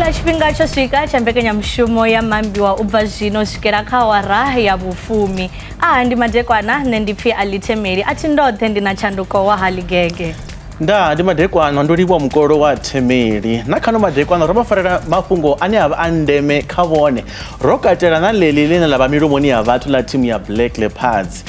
Tshila tshifhinga tsho swika tsha mbekanyamushumo ya mambiwa u bva zwino swikela kha awara ya vhufumi. Aha ndi madekwana, nṋe ndi pfi Ali Themeli, a thi ndoṱhe ndi na tshanduko wa Haligege. Nda ndi madekwana ndo livhuwa mukolo wa Themeli. Na khano madekwana ro vha farela mafhungo ane a vha a ndeme kha vhone. Ro katela na ḽeḽi ḽine ḽa vha milomoni ya vhathu ḽa thimu ya Black Leopards.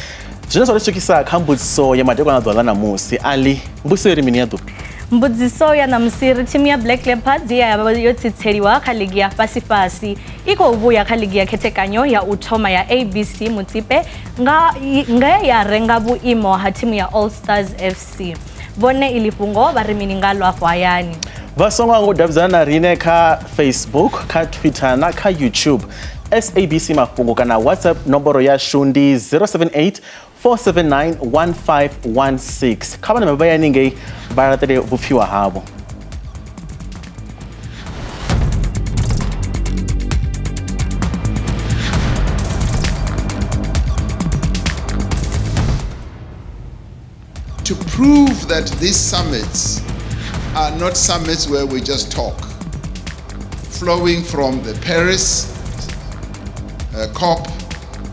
Zwine zwa ri swikisa kha mbudziso ya madekwana ḓuvha ḽa ṋamusi. Ali, mbudziso iri mini ya ḓuvha? Mbudziso ya ṋamusi ri thimu ya Black Leopards ya vha yo tsitseliwa kha ligi ya fhasi-fhasi i khou vhuya kha ligi ya khethekanyo ya u thoma ya ABC Motsepe nga ya renga vhuimo ha thimu ya All Stars FC. Vhone iḽi fhungo vha ri mini nga lwa afho hayani? Vha songo hangwa u davhidzana na riṋe kha Facebook, kha Twitter na kha YouTube. SABC Mafhungo kana WhatsApp nomboro yashu ndi 078 479 1516. Kha vhana vha ya haningei vha laṱele vhupfiwa havho. To prove that these summits are not summits where we just talk, flowing from the Paris COP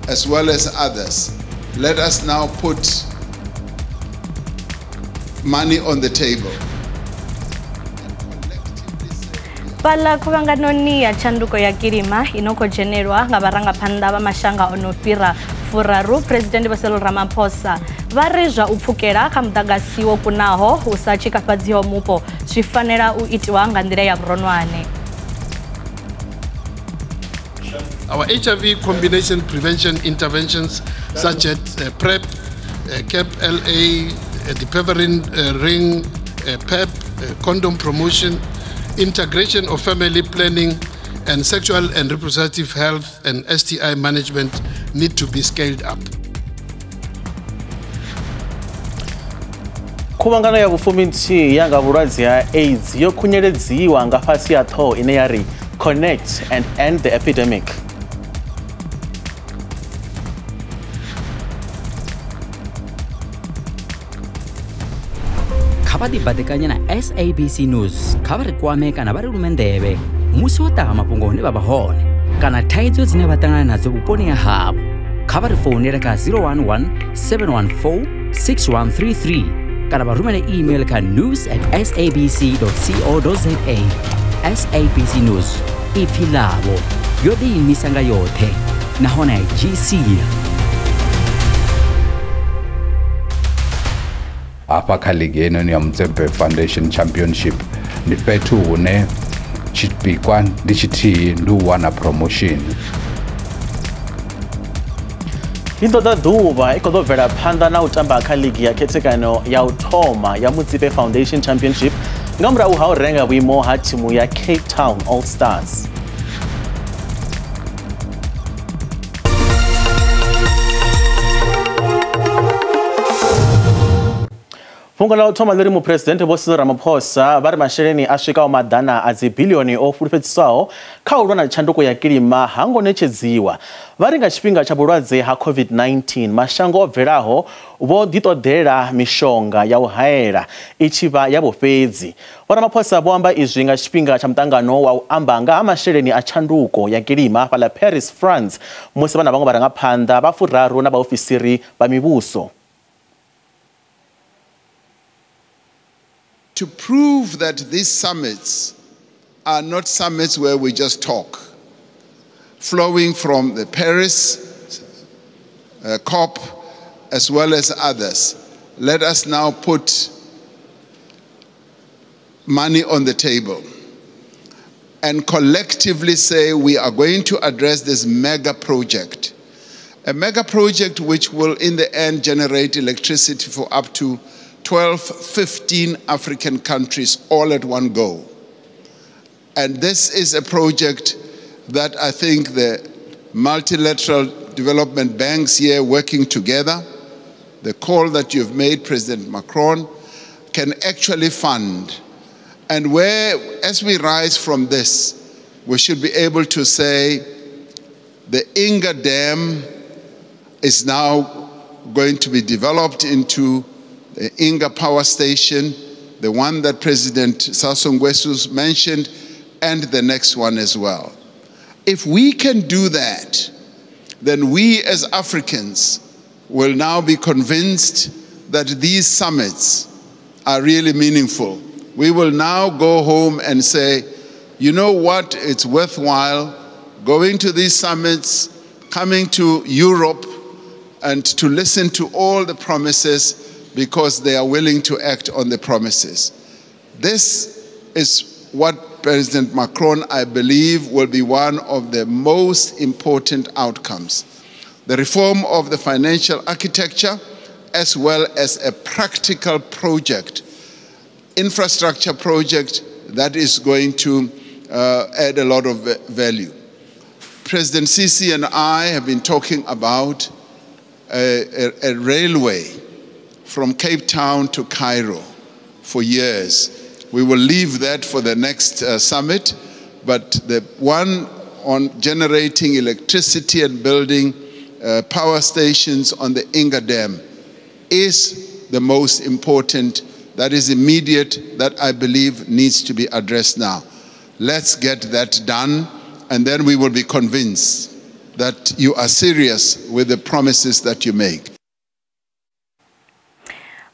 as well as others, let us now put money on the table. Fhaḽa khuvhanganoni ya tshanduko ya kilima ino khou dzhenelwa nga vharangaphanḓa vha mashanga o no fhira furaru, President Vho Cyril Ramaphosa vha ri zwa u pfukela kha muḓagasi wo kunaho u sa tshikafhadziho mupo zwi fanela u itiwa nga nḓila ya vhuronwane. Our HIV combination prevention interventions such as PrEP, CAP LA, the Dapivirine ring, PEP, condom promotion, integration of family planning and sexual and reproductive health and STI management need to be scaled up. Khuvhangano ya vhufuminthihi ya nga vhulwadze ha AIDS yo khunyeledziwa nga fhasi ha ṱhoho ine ya ri Connect and End the Epidemic. Kha vha ḓibaḓekanye na SABC News, kha vha ri kwame kana vha ri lume nḓevhe musi wo ṱaha mafhungo hune vha vha hone kana thaidzo dzine vha ṱangana nadzo vhuponi ha havho. Kha vha ri founele kha 011 714 6133 kana vha rumele email kha news@sabc.co.za. SABC News, ipfi ḽavho, yo ḓiimisa nga yoṱhe nahone a i dzhii sia. Hafha kha ligi heinoni ya Motsepe Foundation Championship ndi fhethu hune tshipikwa ndi tshithihi, ndi u wana promotion. I ḓo ḓuvha i khou ḓo bvela phanḓa na u tamba kha ligi ya khethekano ya u thoma ya Motsepe Foundation Championship nga murahu ha u renga vhuimo ha thimu ya Cape Town All Stars. Fhungo ḽa u thoma ḽi ri muphuresidennde Vho Cyril Ramaphosa vha ri masheleni a swikaho maḓana a dzibiḽioni o fulufhedziswaho kha u lwa na tshanduko ya kilima ha ngo ṋetshedziwa. Vha ri nga tshifhinga tsha vhulwadze ha COVID-19 mashango o bvelaho vho ḓiṱoḓela mishonga ya u haela i tshi vha ya vhofhedzi. Vho Ramaphosa vho amba izwi nga tshifhinga tsha muṱangano wa u amba nga ha masheleni a tshanduko ya kilima fhaḽa Paris, France, musi vha na vhaṅwe vharangaphanḓa vha furaru na vhaofisiri vha mivhuso. To prove that these summits are not summits where we just talk, flowing from the Paris COP as well as others, let us now put money on the table and collectively say we are going to address this mega project. A mega project which will in the end generate electricity for up to 12, 15 African countries all at one go. And this is a project that I think the multilateral development banks here working together, the call that you've made, President Macron, can actually fund. And where, as we rise from this, we should be able to say the Inga Dam is now going to be developed into the Inga Power Station, the one that President Sassou Nguesso mentioned, and the next one as well. If we can do that, then we as Africans will now be convinced that these summits are really meaningful. We will now go home and say, you know what, it's worthwhile going to these summits, coming to Europe, and to listen to all the promises because they are willing to act on the promises. This is what President Macron, I believe, will be one of the most important outcomes. The reform of the financial architecture, as well as a practical project, infrastructure project that is going to add a lot of value. President Sisi and I have been talking about a railway from Cape Town to Cairo for years. We will leave that for the next summit, but the one on generating electricity and building power stations on the Inga Dam is the most important, that is immediate, that I believe needs to be addressed now. Let's get that done, and then we will be convinced that you are serious with the promises that you make.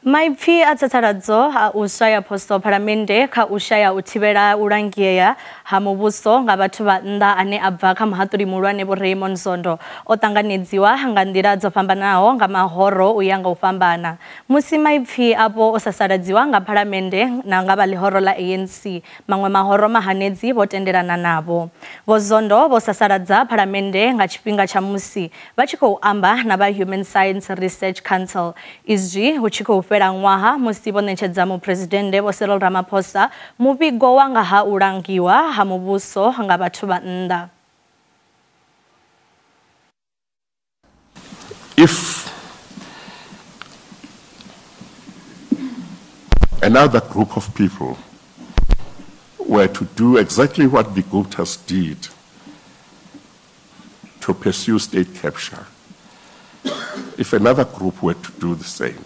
Maipfi a tsatsaladzo a u shaya posto phalamennde kha u shaya u thivhela u langea ha muvhuso nga vhathu vha nnḓa ane a bva kha muhaṱuli muhulwane Vho Raymond Zondo o ṱanganedziwa nga nḓila dzo fhambanaho nga mahoro u ya nga u fhambana. Musi maipfi avho o sasaladziwa nga phalamennde na nga vha ḽihoro ḽa ANC, maṅwe mahoro mahanedzi vho tendelana navho. Vho Zondo vho sasaladza phalamennde nga tshifhinga tsha musi vha tshi khou amba na vha Human Science Research Council. Izwi hu tshi khou fhela ṅwaha musi vho ṋetshedza muphuresidennde Vho Cyril Ramaphosa muvhigo wa nga ha u langiwa ha muvhuso nga vhathu vha nnḓa. If another group of people were to do exactly what the Guptas did to pursue state capture, if another group were to do the same,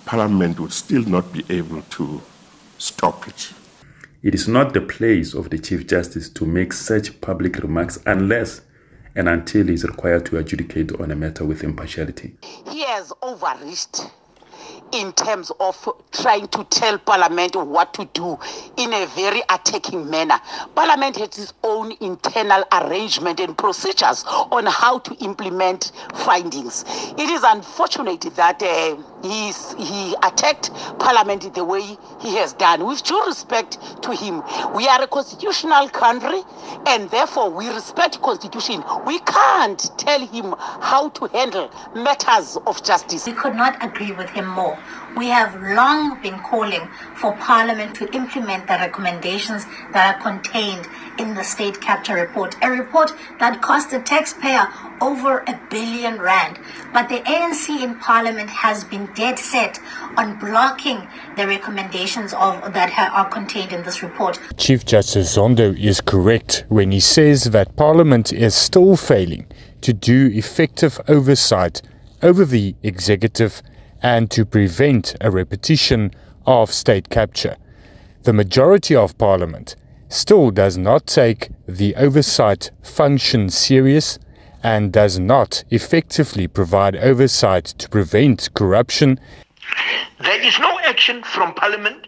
Parliament would still not be able to stop it. It is not the place of the Chief Justice to make such public remarks unless and until he is required to adjudicate on a matter with impartiality. He has overreached in terms of trying to tell Parliament what to do in a very attacking manner. Parliament has its own internal arrangement and procedures on how to implement findings. It is unfortunate that he attacked Parliament the way he has done. With due respect to him, we are a constitutional country and therefore we respect constitution. We can't tell him how to handle matters of justice. We could not agree with him more. We have long been calling for Parliament to implement the recommendations that are contained in the State Capture Report, a report that cost the taxpayer over R1 billion. But the ANC in Parliament has been dead set on blocking the recommendations that are contained in this report. Chief Justice Zondo is correct when he says that Parliament is still failing to do effective oversight over the executive and to prevent a repetition of state capture. The majority of Parliament still does not take the oversight function serious and does not effectively provide oversight to prevent corruption. There is no action from Parliament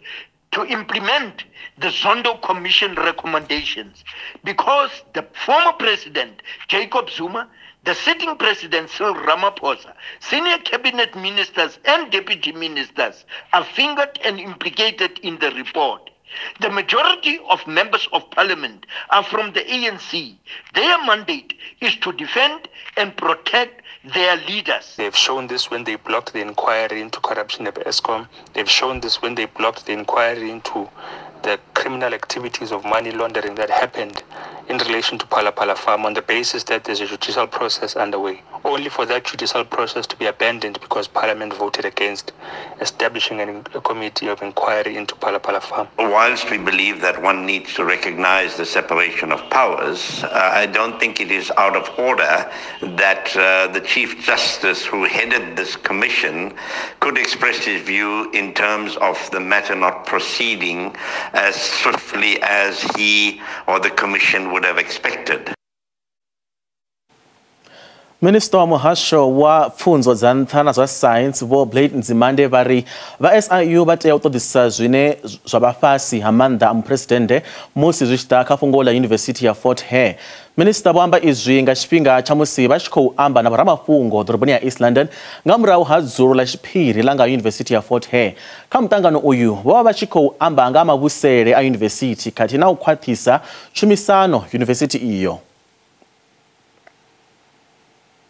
to implement the Zondo Commission recommendations because the former president, Jacob Zuma, the sitting president, Cyril Ramaphosa, senior cabinet ministers and deputy ministers are fingered and implicated in the report. The majority of members of parliament are from the ANC. Their mandate is to defend and protect their leaders. They've shown this when they blocked the inquiry into corruption at Eskom. They've shown this when they blocked the inquiry into the criminal activities of money laundering that happened in relation to Phala Phala Farm on the basis that there's a judicial process underway. only for that judicial process to be abandoned because Parliament voted against establishing a committee of inquiry into Phala Phala Farm. Whilst we believe that one needs to recognize the separation of powers, I don't think it is out of order that the Chief Justice who headed this commission could express his view in terms of the matter not proceeding as swiftly as he or the commission would have expected. Minister wa muhasho wa pfunzo dza nṱha na zwa science Vho Blade Nzimande vha ri vha SIU vha tea u ṱoḓisisa zwine zwa vha fhasi ha maanḓa a muphuresidennde musi zwi tshi ḓa kha fhungo ḽa Yunivesithi ya Fort Hare. Minister vho amba izwi nga tshifhinga tsha musi vha tshi khou amba na vhoramafhungo ḓoroboni ya East London nga murahu ha dzulo ḽa tshiphiri ḽa nga Yunivesithi ya Fort Hare. Kha muṱangano uyu vho vha vha tshi khou amba nga mavhusele a yunivesithi khathihi na u khwaṱhisa tshumisano yunivesithi iyo.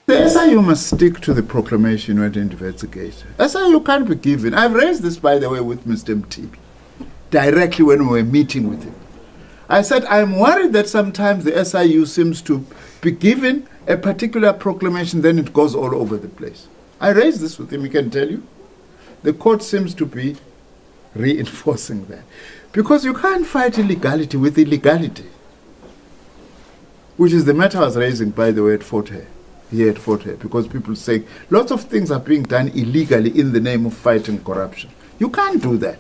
The SIU must stick to the proclamation when it investigates. SIU can't be given. I've raised this, by the way, with Mr. Mtibi, directly when we were meeting with him. I said, I'm worried that sometimes the SIU seems to be given a particular proclamation, then it goes all over the place. I raised this with him, he can tell you. The court seems to be reinforcing that. Because you can't fight illegality with illegality, which is the matter I was raising, by the way, at Fort Hare. Here at Fort Hare, because people say lots of things are being done illegally in the name of fighting corruption. You can't do that.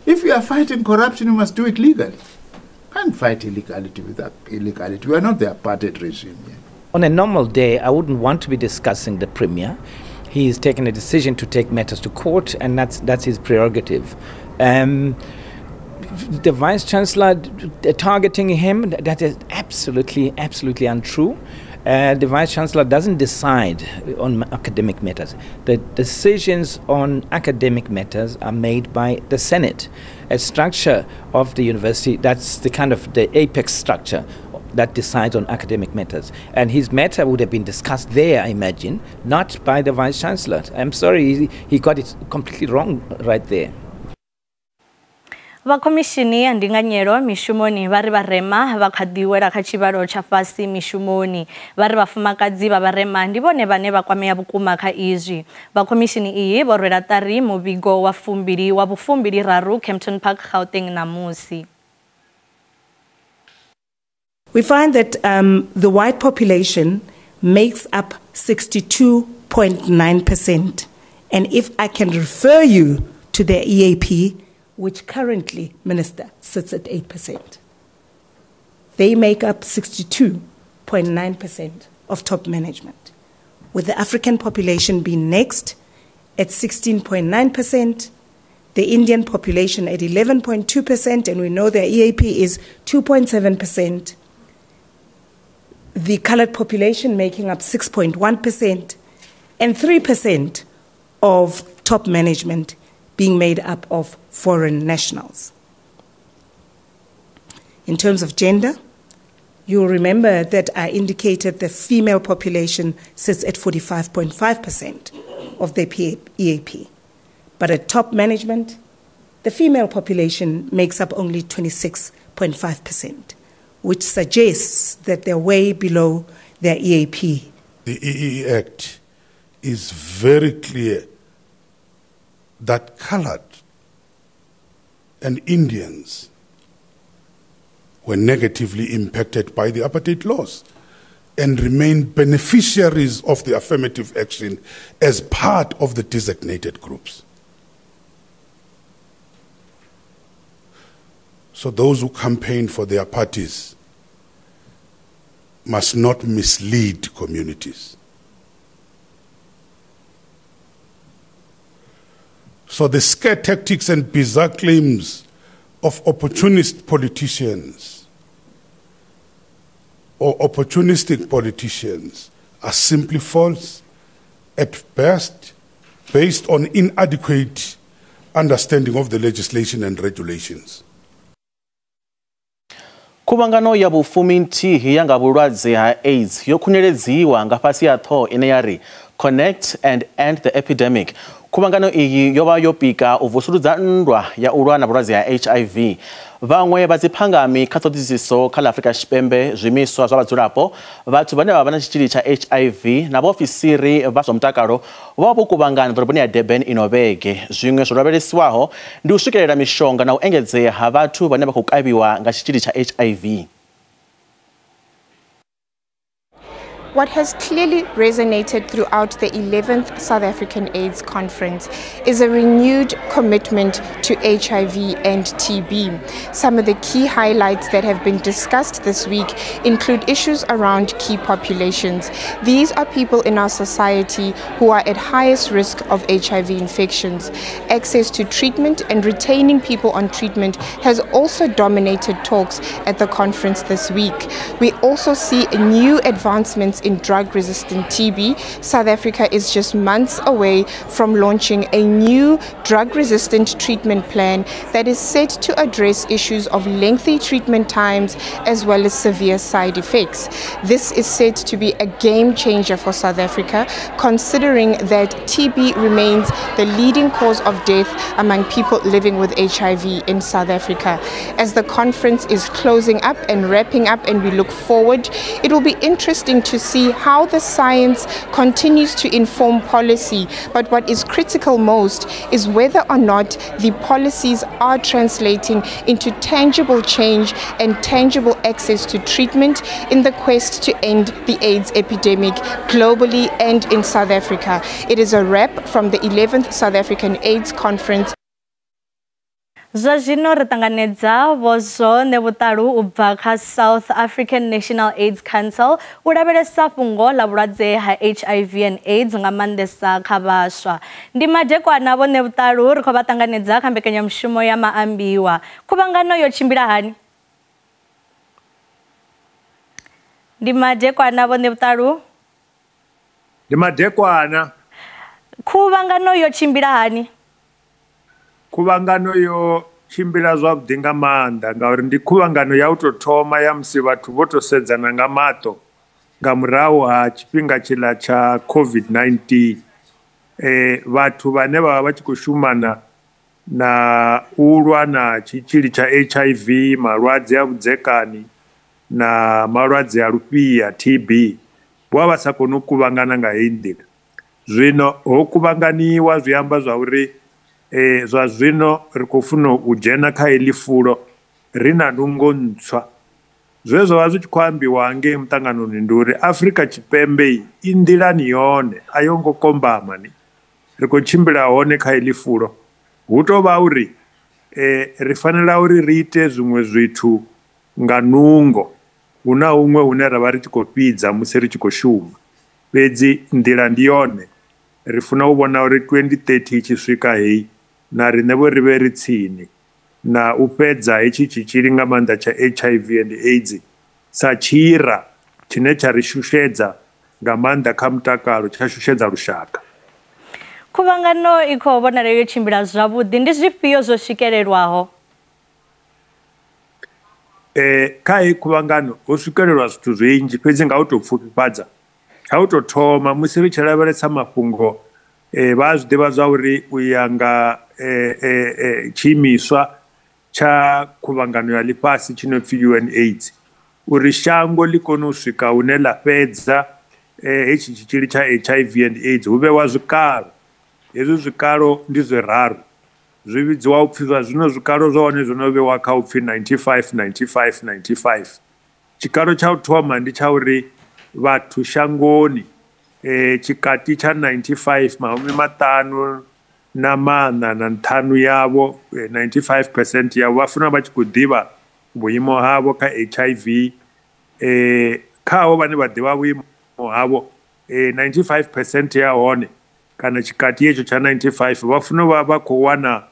If you are fighting corruption, you must do it legally. You can't fight illegality with illegality. We are not the apartheid regime here. On a normal day, I wouldn't want to be discussing the Premier. He has taken a decision to take matters to court, and that's his prerogative. The Vice Chancellor targeting him, that is absolutely, absolutely untrue. The Vice Chancellor doesn't decide on academic matters. The decisions on academic matters are made by the Senate, a structure of the university that's the kind of the apex structure that decides on academic matters. And his matter would have been discussed there, I imagine, not by the Vice Chancellor. I'm sorry, he got it completely wrong right there. Vha khomishini ya ndinganyelo mishumoni vha ri vharema vha kha ḓi wela kha tshivhalo tsha fhasi mishumoni. Vha ri vhafumakadzi vha vharema ndi vhone vhane vha kwamea vhukuma kha izwi. Vha khomishini iyi vho rwela ṱari muvhigo wa 2023 Kempton Park, Gauteng ṋamusi. We find that the white population makes up 62.9%. And if I can refer you to the EAP, which currently, Minister, sits at 8%. They make up 62.9% of top management, with the African population being next at 16.9%, the Indian population at 11.2%, and we know their EAP is 2.7%, the colored population making up 6.1%, and 3% of top management being made up of foreign nationals. In terms of gender, you'll remember that I indicated the female population sits at 45.5% of the EAP. But at top management, the female population makes up only 26.5%, which suggests that they're way below their EAP. The EEE Act is very clear that colored and Indians were negatively impacted by the apartheid laws and remain beneficiaries of the affirmative action as part of the designated groups. So those who campaign for their parties must not mislead communities. So the scare tactics and bizarre claims of opportunist politicians or opportunistic politicians are simply false at best, based on inadequate understanding of the legislation and regulations. Khuvhangano ya vhufumi nthihi ya nga vhulwadze ha AIDS yo khunyeledziwa nga fhasi ha ṱhoho ine ya ri Connect and End the Epidemic. Khuvhangano iyi yo vha yo pika u vusuludza nndwa ya u lwa na vhulwadze ha HIV. Vhaṅwe vha dziphangami kha ṱhoḓisiso kha ḽa Afrika Tshipembe, zwiimiswa zwa vhadzulapo, vhathu vhane vha vha na tshitzhili tsha HIV na vhaofisiri vha zwa mutakalo vho vha vho kuvhangana ḓoroboni ya Durban ino vhege. Zwiṅwe zwo lavhelesiwaho ndi u swikelela mishonga na u engedzea ha vhathu vhane vha khou kavhiwa nga tshitzhili tsha HIV. What has clearly resonated throughout the 11th South African AIDS Conference is a renewed commitment to HIV and TB. Some of the key highlights that have been discussed this week include issues around key populations. These are people in our society who are at highest risk of HIV infections. Access to treatment and retaining people on treatment has also dominated talks at the conference this week. We also see new advancements in drug-resistant TB. South Africa is just months away from launching a new drug-resistant treatment plan that is set to address issues of lengthy treatment times as well as severe side effects. This is said to be a game changer for South Africa, considering that TB remains the leading cause of death among people living with HIV in South Africa. As the conference is closing up and wrapping up and we look forward, it will be interesting to see how the science continues to inform policy, but what is critical most is whether or not the policies are translating into tangible change and tangible access to treatment in the quest to end the AIDS epidemic globally and in South Africa. It is a wrap from the 11th South African AIDS Conference. Zwa zwino ri ṱanganedza Vho Zwone Vhuṱalu u bva kha South African National AIDS Council u lavhelesa fhungo ḽa vhulwadze ha HIV and AIDS nga maanḓesa kha vhaswa. Ndi madekwana Vho Vhuṱalu, ri khou vha ṱanganedza kha mbekanyamushumo ya Maambiwa. Khuvhangano yo tshimbila hani? Ndi madekwana Vho Vhuṱalu. Ndi madekwana. Khuvhangano yo tshimbila hani? Khuvhangano yo tshimbila zwavhuḓi nga maanḓa ngauri ndi khuvhangano ya u tou thoma ya musi vhathu vho tou sedzana nga maṱo nga murahu ha tshifhinga tshiḽa tsha COVID-19. Vhathu vhane vha vha vha tshi khou shumana na u lwa na tshitzhili tsha HIV, malwadze a vhudzekani na malwadze a lufhia TB, vho vha vha sa koni u kuvhangana nga heyi nḓila. Zwino ho kuvhanganiwa zwi amba zwa uri zwa zwino ri khou funa u dzhena kha heḽi fulo ri na nungo ntswa. Zwe zwa vha zwi tshi khou ambiwa ngei muṱanganoni ndi uri Afrika Tshipembe i nḓilani yone, a yo ngo kombama ni. Ri khou tshimbila hone kha heḽi fulo. Hu tou vha uri ri fanela uri ri ite zwiṅwe zwithu nga nungo. Hu na huṅwe hune ra vha ri tshi khou fhidza musi ri tshi khou shuma. Fhedzi nḓila ndi yone. Ri funa u vhona uri 2030 i tshi swika heyi na riṋe vho ri vhe ri tsini na u fhedza hetshi tshitzhili nga maanḓa tsha HIV and AIDS sa tshira tshine tsha ri shushedza nga maanḓa kha mutakalo, tsha shushedza lushaka. Khuvhangano i khou vhonala yo tshimbila zwavhuḓi, ndi zwifhio zwo swikelelwaho? Kha heyi khuvhangano ho swikelelwa zwithu zwinzhi, fhedzi nga u tou pfufhifhadza, kha u tou thoma musi ri tshi lavhelesa mafhungo vha zwi ḓivha zwa uri u ya nga tshiimiswa tsha khuvhangano ya ḽifhasi tshi no pfi UNAIDS, uri shango ḽi kone u swika hune ḽa fhedza hetshi tshitzhili tsha HIV and AIDS hu vhewa zwikalo. Hezwi zwikalo ndi zwiraru, zwi vhidziwa upfhi zwa zwino zwikalo zwa hone zwo no vhewa kha upfhi 95 95 95. Tshikalo tsha u thoma ndi tsha uri vhathu shangoni tshikati tsha 95 54 yavho, 95% yavho vha funa vha tshi khou ḓivha vhuimo havho kha HIV. Khavho vhane vha ḓivha vhuimo havho 95% ya hone kana tshikati hetsho tsha 95 vha funa vha vha khou wana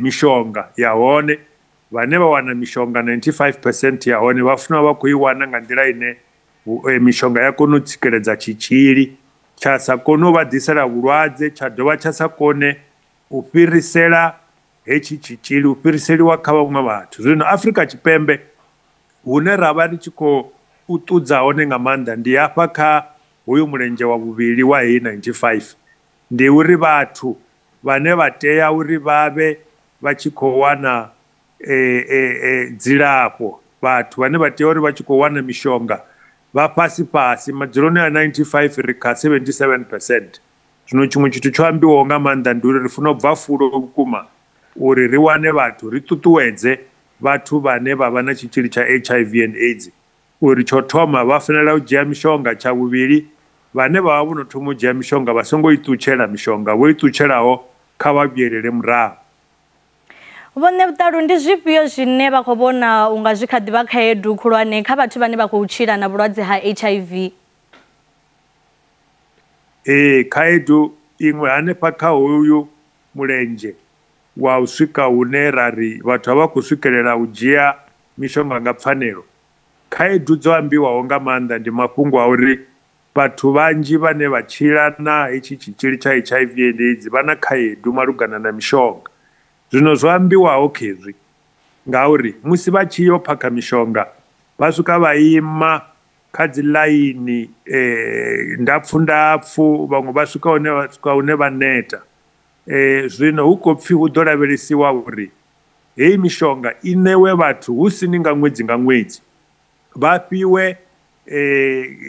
mishonga ya hone. Vhane vha wana mishonga 95% ya hone vha funa vha khou i wana nga nḓila ine mishonga ya kona u tsikeledza tshitzhili tsha sa kone u vha ḓisela vhulwadze, tsha dovha tsha sa kone u fhirisela hetshi tshitzhili, u fhiriseliwa kha vhaṅwe vhathu. Zwino Afrika Tshipembe hune ra vha ri tshi khou ṱudza hone nga maanḓa ndi hafha kha hoyu mulenzhe wa vhuvhili wa heyi 95 ndi uri vhathu vhane vha tea uri vhavhe vha tshi khou wana dzilafho, vhathu vhane vha tea uri vha tshi khou wana mishonga vha fhasi fhasi madzuloni a 95 ri kha 77%. Zwino tshiṅwe tshithu tsho ambiwaho nga maanḓa ndi uri ri funa u bva fulo vhukuma uri ri wane vhathu, ri ṱuṱuwedze vhathu vhane vha vha na tshitzhili tsha HIV and AIDS uri tsho thoma vha fanela u dzhia mishonga, tsha vhuvhili vhane vha vha vho no thoma u dzhia mishonga vha songo i ṱutshela mishonga, vho i ṱutshelaho kha vha vhuyelele murahu. Vhone Vhutalu, ndi zwifhio zwine vha khou vhona unga zwi kha ḓivha khaedu khulwane kha vhathu vhane vha khou tshila na vhulwadze ha HIV? Ee, khaedu iṅwe hanefha kha hoyu mulenzhe wa u swika hune ra ri vhathu a vha khou swikelela u dzhia mishonga nga pfanelo, khaedu dzo ambiwaho nga maanḓa ndi mafhungo a uri vhathu vhanzhi vhane vha tshila na hetshi tshitzhili tsha HIV and AIDS vha na khaedu malugana na mishonga. Zwino zwo ambiwaho khezwi ngauri musi vha tshi yo phakha mishonga vha swika vha ima kha dzi ḽaini ndapfu ndapfu, vhaṅwe vha swika hune vha neta. Zwino hu khou pfhi hu ḓo lavhelesiwa uri heyi mishonga i ṋewe vhathu hu sini nga ṅwedzi nga ṅwedzi, vha fhiwe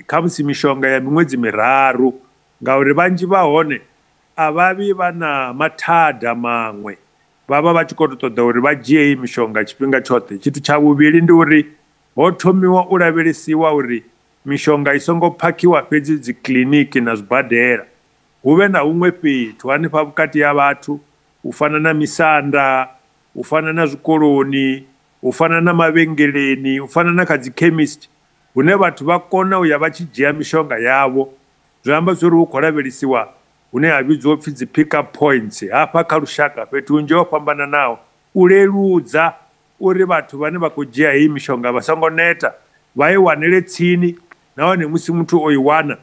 khamusi mishonga ya miṅwedzi miraru, ngauri vhanzhi vha hone a vha vhi vha na mathada maṅwe, vha vha vha tshi khou ṱoḓa uri vha dzhie heyi mishonga tshifhinga tshoṱhe. Tshithu tsha vhuvhili ndi uri ho thomiwa u lavhelesiwa uri mishonga i songo phakhiwa fhedzi dzi kiḽiniki na zwibadela, hu vhe na huṅwe fhethu hanefha vhukati ha vhathu, u fana na misanda, u fana na zwikoloni, u fana na mavhengeleni, u fana na kha dzi chemist, hune vhathu vha kona u ya vha tshi dzhia mishonga yavho. Zwi amba zwa uri hu khou lavhelesiwa hune ha vhidziwa upfhi dzi pick up points hafha kha lushaka fhethu hunzhi ho fhambananaho, u leludza uri vhathu vhane vha khou dzhia heyi mishonga vha songo neta, vha i wanele tsini, nahone musi muthu o i wana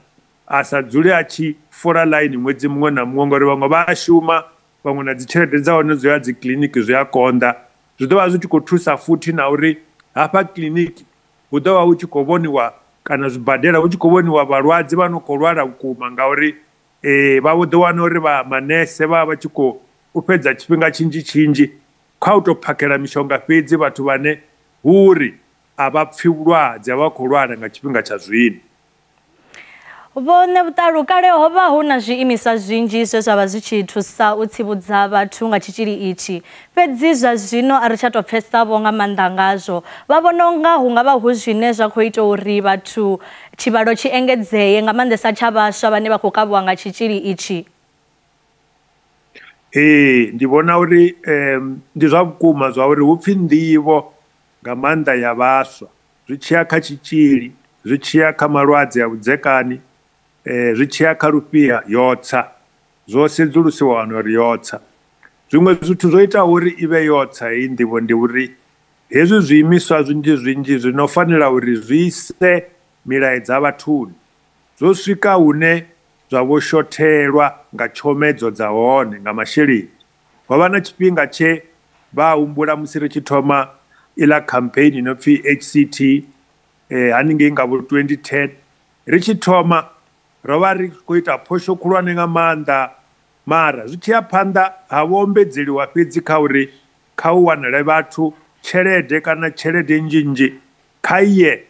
a sa dzule a tshi fola ḽaini ṅwedzi muṅwe na muṅwe, ngori vhaṅwe vha a shuma, vhaṅwe na dzi tshelede dza hone dzo ya dzi kiḽiniki zwi a konḓa. Zwi ḓo vha zwi tshi khou thusa futhi na uri hafha kiḽiniki hu ḓo vha hu tshi khou vhoniwa, kana zwibadela hu tshi khou vhoniwa vhalwadze vha no khou lwala vhukuma, ngauri vha vho ḓo wana uri vha manese vha vha tshi khou fhedza tshifhinga tshinzhi tshinzhi kha u tou phakhela mishonga fhedzi vhathu vhane hu uri a vha pfhi vhulwadze, a vha khou lwala nga tshifhinga tsha zwino. Vhone Vhutalu, kale ho vha hu na zwiimiswa zwinzhi zwe zwa vha zwi tshi thusa u tsivhudza vhathu nga tshitzhili itshi, fhedzi zwa zwino a ri tsha tou pfesa vho nga maanḓa ngazwo. Vha vhona unga hu nga vha hu zwine zwa khou ita uri vhathu tshivhalo tshi engedzee nga maanḓesa tsha vhaswa vhane vha khou kavhiwa nga tshitzhili itshi? Ee, ndi vhona uri ndi zwa vhukuma zwa uri hu pfhi nḓivho nga maanḓa ya vhaswa zwi tshiya kha tshitzhili, zwi tshiya kha malwadze a vhudzekani, zwi tshiya kha lufhia yo tsa, zwo sedzulusiwa wana uri yo tsa. Zwiṅwe zwithu zwo itaho uri i vhe yo tsa heyi nḓivho ndi uri hezwi zwiimiswa zwinzhi zwinzhi zwi no fanela uri zwi ise milaedza vhathuni zwo swika hune zwa vho shothelwa nga tshomedzo dza hone, nga masheleni. Ho vha na tshifhinga tshe vha humbula musi ri tshi thoma iḽa campaign ino pfhi HCT haningei nga vho 2010, ri tshi thoma ro vha ri khou ita phosho khulwane nga maanḓa, mara zwi tshi ya phanḓa ha vho ombedzeliwa fhedzi kha uri kha u wanele vhathu tshelede kana tshelede nnzhi nnzhi kha iye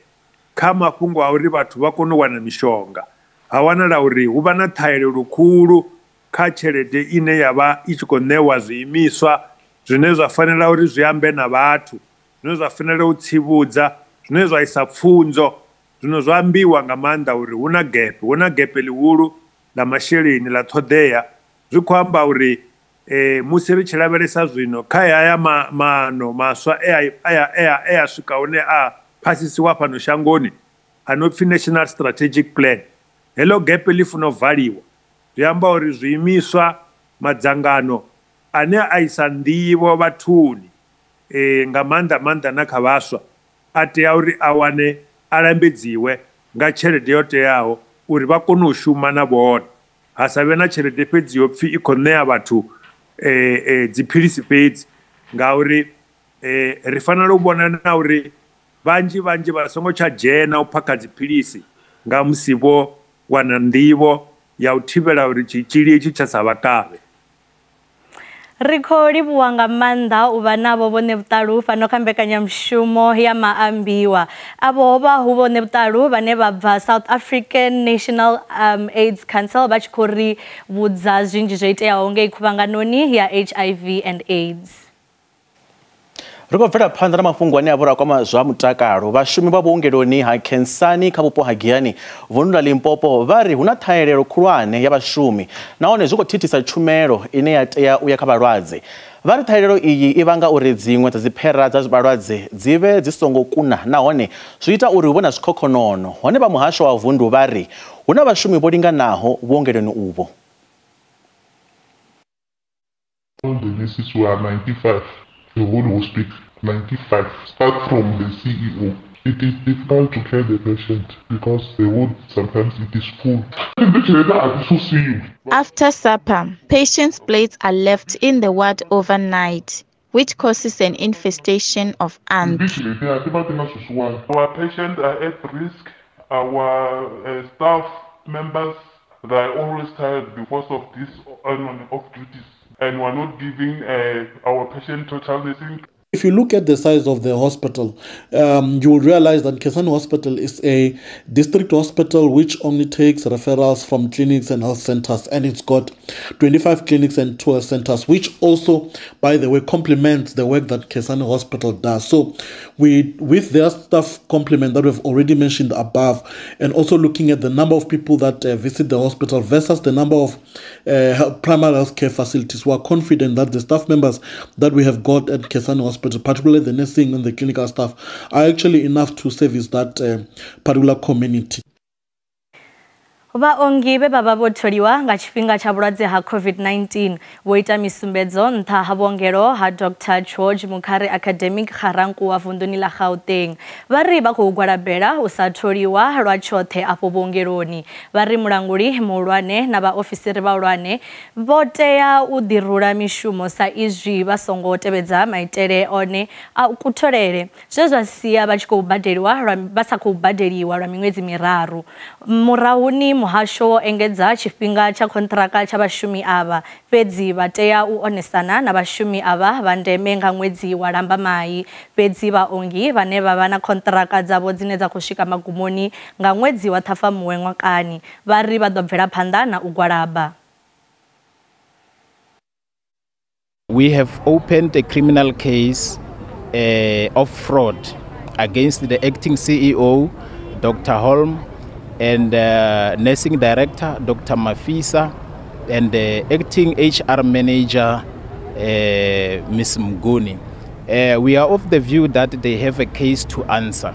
kha mafhungo a uri vhathu vha kone u wana mishonga. Ha wanala uri hu vha na ṱhahelelo khulu kha tshelede ine ya vha i tshi khou ṋewa zwiimiswa zwine zwa fanela uri zwi ambe na vhathu, zwine zwa fanela u tsivhudza, zwine zwa isa pfunzo. Zwino zwa ambiwa nga maanḓa uri hu na gap, hu na gap ḽihulu ḽa masheleni ḽa ṱhoḓea. Zwi khou amba uri musi ri tshi lavhelesa zwino kha haya maano maswa e a swika hune a phasisiwa fhano shangoni a no pfhi National Strategic Plan, heḽo gap ḽi funa u valiwa. Zwi amba uri zwiimiswa, madzangano ane a isa nḓivho vhathuni nga maanḓa maanḓa na kha vhaswa, a tea uri a wane, a lambedziwe nga tshelede yo teaho uri vha kone u shuma na vhone. Ha sa vhe na tshelede fhedzi yo pfhi i khou ṋea vhathu dziphilisi fhedzi, ngauri ri fanela u vhona na uri vhanzhi vhanzhi vha songo tsha dzhena u phakha dziphilisi nga musi vho wana nḓivho ya u thivhela uri tshitzhili itshi tsha sa vha kavhe. Ri khou livhuwa nga maanḓa u vha navho vhone vhuṱalu fhano kha mbekanyamushumo ya maambiwa. Avho vha hu vhone vhuṱalu vhane vha bva South African National AIDS Council vha tshi khou ri vhudza zwinzhi zwo iteaho ngei khuvhanganoni ya HIV and AIDS. Ri khou bvela phanḓa na mafhungo ane a vha kwama zwa mutakalo. Vhashumi vha vhuongeloni ha Khensani kha vhupo ha Giyani vundu ḽa Limpopo vha ri hu na ṱhahelelo khulwane ya vhashumi nahone zwi khou thithisa tshumelo ine ya tea u ya kha vhalwadze. Vha ri ṱhahelelo iyi i vhanga uri dziṅwe dza dziphera dza vhalwadze dzi vhe dzi songo kuna nahone zwi ita uri hu vhe na zwikhokhonono. Hone vha muhasho wa vundu vha ri hu na vhashumi vho linganaho vhuongeloni uvho. The nurses were 95. The whole hospital, 95. Start from the CEO. It is difficult to care the patient because the ward sometimes it is full. After supper, patients' plates are left in the ward overnight, which causes an infestation of ants. Our patients are at risk. Our staff members, they are always tired because of this off duties. And we're not giving our patient total nursing. If you look at the size of the hospital, you will realize that Nkhensani Hospital is a district hospital which only takes referrals from clinics and health centers, and it's got 25 clinics and 2 health centers, which also, by the way, complements the work that Nkhensani Hospital does. So we, with their staff complement that we've already mentioned above, and also looking at the number of people that visit the hospital versus the number of primary health care facilities, we are confident that the staff members that we have got at Nkhensani Hospital, particularly the nursing and the clinical staff, are actually enough to service that particular community. Vhaongi vhe vha vha vho tholiwa nga tshifhinga tsha vhulwadze ha COVID-19 vho ita misumbedzo nṱha ha vhuongelo ha Dr George Mukhari Academic Ga-Rankuwa vunduni ḽa Gauteng. Vha ri vha khou gwalabela u sa tholiwa lwa tshoṱhe afho vhuongeloni. Vha ri mulanguli muhulwane na vhaofisiri vhahulwane vho tea u ḓirula mishumo sa izwi vha songo tevhedza maitele one a kutholele, zwe zwa sia vha tshi khou badeliwa vha sa khou badeliwa lwa miṅwedzi miraru. Murahuni muhasho wo engedza tshifhinga tsha kontraka tsha vhashumi avha, fhedzi vha tea u onesana na vhashumi avha vha ndeme nga ṅwedzi wa Lambamai. Fhedzi vhaongi vhane vha vha na kontraka dzavho dzine dza khou swika magumoni nga ṅwedzi wa Ṱhafamuhwe ṅwakani vha ri vha ḓo bvela phanḓa na u gwalaba. We have opened a criminal case of fraud against the acting CEO, Dr. Holm, and nursing director, Dr. Mafisa, and the acting HR manager, Ms. Mguni. We are of the view that they have a case to answer,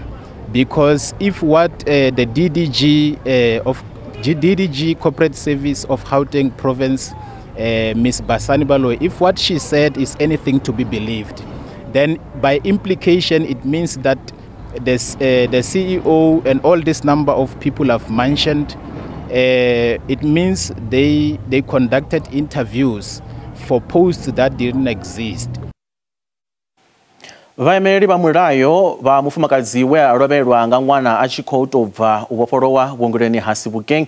because if what the DDG of DDG Corporate Service of Gauteng Province, Ms. Basani Baloyi, if what she said is anything to be believed, then by implication it means that the CEO and all this number of people I've mentioned, it means they conducted interviews for posts that didn't exist. Vhaimeleli vha mulayo vha mufumakadzi we a lovhelwa nga ṅwana a tshi khou tou bva u vhofholowa vhuongeloni ha Sebokeng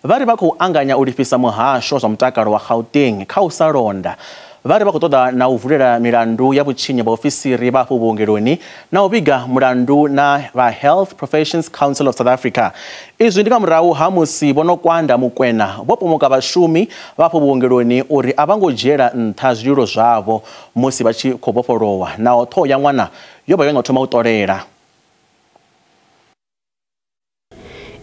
vha ri vha khou anganya u lifhisa muhasho zwa mutakalo wa Gauteng kha u sa londa. Vha ri vha khou ṱoḓa na u vulela milandu ya vhutshinyi vhaofisiri vha afho vhuongeloni na u vhiga mulandu na vha Health Professions Council of South Africa. Izwi ndi nga murahu ha musi vho Nokwanda Mukwena vho pomoka vhashumi vha afho vhuongeloni uri a vha ngo dzhiela nṱha zwililo zwavho musi vha tshi khou vhofholowa, naho ṱhoho ya ṅwana yo vha yo no thoma u ṱolela.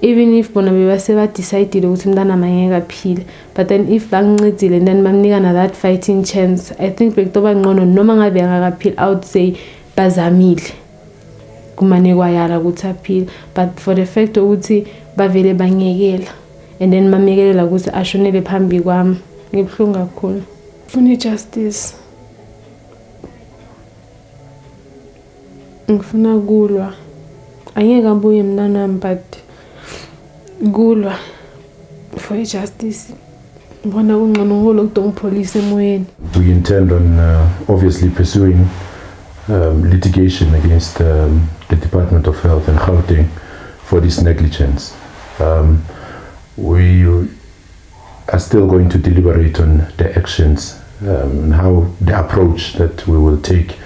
Even if bona bebase ba decide ukuthi umntana mangeke aphile, but then if bangincedile and then bamnika na that fighting chance, I think bekutoba ngcono noma ngabe angakaphili. I would say bazamile kumane kwayala ukuthi aphile, but for the fact ukuthi bavele bangiyekela and then bamekelela ukuthi ashonele phambi kwami, ngibuhlungu kakhulu. Ngifuna justice, ngifuna kulwa, angeke abuye mntanami, but kulwa for justice. We intend on obviously pursuing litigation against the Department of Health and Gauteng for this negligence. We are still going to deliberate on the actions and how the approach that we will take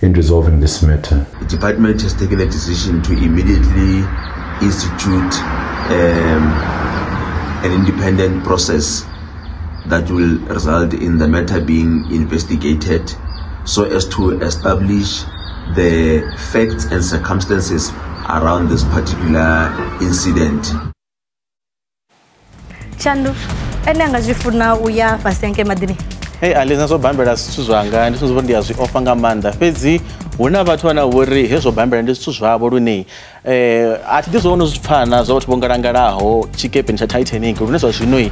in resolving this matter. The department has taken a decision to immediately institute an independent process that will result in the matter being investigated so as to establish the facts and circumstances around this particular incident. Chandu, ene anga zwi funa uya fhasi hanke maḓini. Hey, Aliza, zwo bambela zwithu zwanga ndi zwithu ndi a zwi ofha nga maanḓa, fhedzi hu na vhathu vhane vho ri hezwo bambela ndi zwithu zwavho lune a thi ḓi zwo no zwi pfana zwa vhathu vho ngalangalaho tshikepeni tsha Titanic lune zwa zwino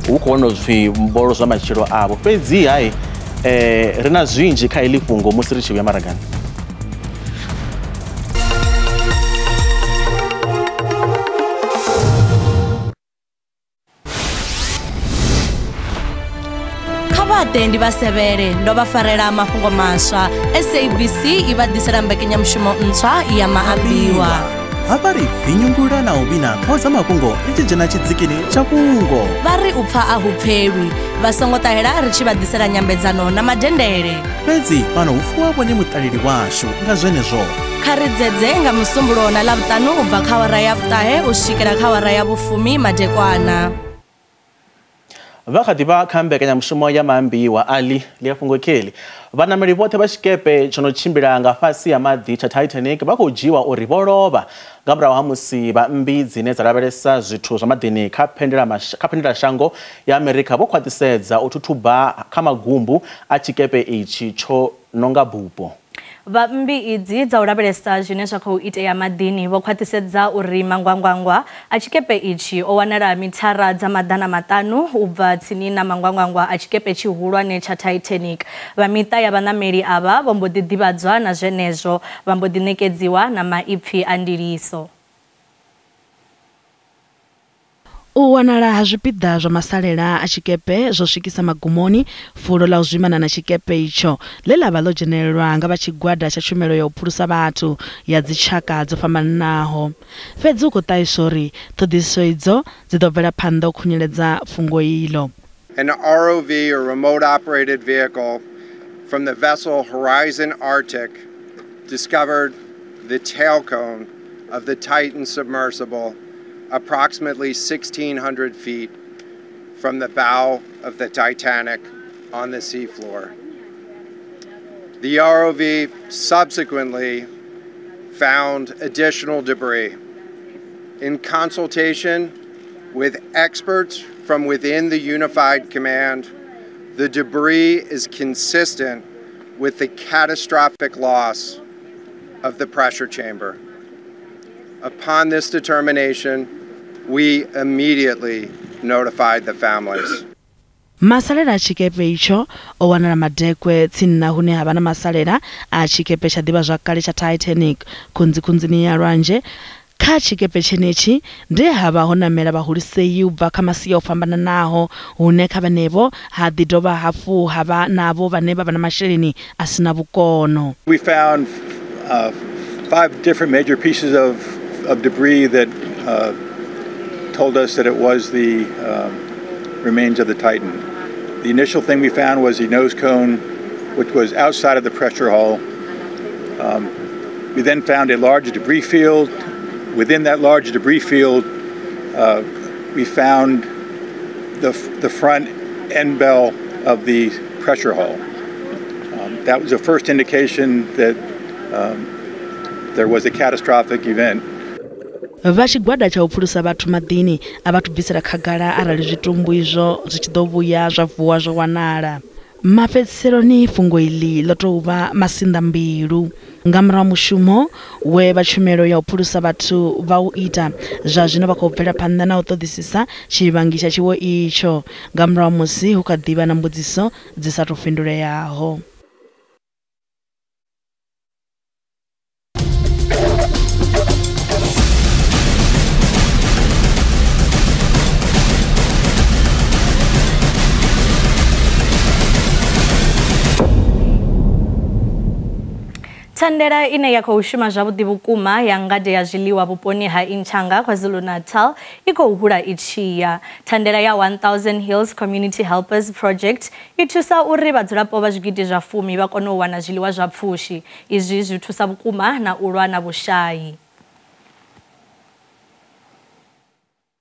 hu khou wana zwipfi mbolo zwa matshilo avho. Fhedzi hai ri na zwinzhi kha iḽi fhungo musi ri tshi vhuya maragani. Ndi vha sevhele ndo vha farela mafhungo maswa. SABC i vha ḓisela mbekanyamushumo ntswa ya maambiwa. Hafha ri vinyungula na u vhina ṱhoho dza mafhungo ri tshi dzhena tshidzikini tsha fhungo. Vha ri u pfa a hu pfelwi, vha songo ṱahela ri tshi vha ḓisela nyambedzano na madendele. Fhedzi fhano hu fuwa vhone muṱaleli washu, nga zwenezwo kha ri dzedze nga musumbulowo na Ḽavhuṱanu u bva kha awara ya 9 u swikela kha awara ya 10 madekwana. Vha kha ḓi vha kha mbekanyamushumo ya maambiwa ali ḽi fhungo kheli. Vhanameli vhoṱhe vha tshikepe tsho no tshimbila nga fhasi ha maḓi tsha Titanic vha khou dzhiwa uri vho lovha nga murahu ha musi vha mmbi dzine dza lavhelesa zwithu zwa maḓini kha phendelashango ya Amerika vho khwaṱhisedza u thuthuba kha magumbu a tshikepe itshi tsho nonga bupo. Vha mmbi idzi dza u lavhelesa zwine zwa khou itea maḓini vho khwaṱhisedza uri mangwangwangwa a tshikepe itshi o wanala mithara dza 500 u bva tsini na mangwangwangwa a tshikepe tshihulwane tsha Titanic. Vha miṱa ya vhanameli avha vho mbo ḓi ḓivhadzwa na zwenezwo, vha mbo ḓi ṋekedziwa na maipfi a ndiliso. U wanala ha zwipiḓa zwa masalela a tshikepe zwo swikisa magumoni fulo ḽa u zwimana na tshikepe itsho ḽe ḽa vha ḽo dzhenelelwa nga vha tshigwada tsha tshumelo ya u phulusa vhathu ya dzitshaka dzo fhambananaho. Fhedzi hu khou ṱahiswa uri ṱhoḓisiso idzo dzi ḓo bvela phanḓa u khunyeledza fhungo iḽo. An ROV, or remote operated vehicle, from the vessel Horizon Arctic discovered the tail cone of the Titan submersible approximately 1,600 feet from the bow of the Titanic on the seafloor. The ROV subsequently found additional debris. In consultation with experts from within the Unified Command, the debris is consistent with the catastrophic loss of the pressure chamber. Upon this determination, we immediately notified the families. Masalela a tshikepe itsho o wanala madekwe tsini na hune ha vha na masalela a tshikepe tsha ḓivhazwakale tsha Titanic khunzikhunzini ya lwanzhe. Kha tshikepe tshenetshi ndi ha vha ho namela vhahulisei u bva kha masia o fhambananaho, hune kha vhanevho ha ḓi dovha hafhu ha vha navho vhane vha vha na masheleni a sina vhukono. We found 5 different major pieces of debris that told us that it was the remains of the Titan. The initial thing we found was the nose cone, which was outside of the pressure hull. We then found a large debris field. Within that large debris field, we found the front end bell of the pressure hull. That was the first indication that there was a catastrophic event. Vha tshigwada tsha u phulusa vhathu maḓini a vhathu bvisela khagala arali zwitumbu izwo zwi tshi ḓo vhuya zwa vuwa zwo wanala. Mafhedziseloni fhungo iḽi ḽo tou vha masinḓambilu. Nga murahu mushumo we vha tshumelo ya u phulusa vhathu vha u ita, zwa zwino vha khou bvela phanḓa na u ṱoḓisisa tshivhangi tsha tshiwo itsho nga murahu musi hu kha ḓivha na mbudziso dzi sa tou fhinduleaho. Thandela ine ya khou shuma zwavhuḓi vhukuma ya ngade ya zwiḽiwa vhuponi ha Inchanga KwaZulu-Natal i khou hula i tshi ya. Thandela ya 1000 Hills Community Helpers Project i thusa uri vhadzulapo vha zwigidi zwa 10 vha kone u wana zwiḽiwa zwa pfushi. Izwi zwi thusa vhukuma na u lwa na vhushai.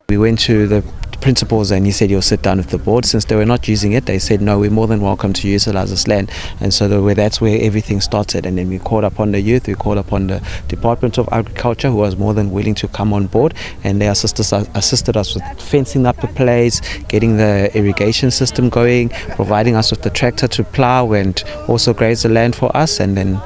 We went to the principals and he said he'll sit down with the board. Since they were not using it, they said, no, we're more than welcome to utilize this land. And so that's where everything started. And then we called upon the youth, we called upon the Department of Agriculture, who was more than willing to come on board. And they assisted us with fencing up the place, getting the irrigation system going, providing us with the tractor to plow and also graze the land for us. And then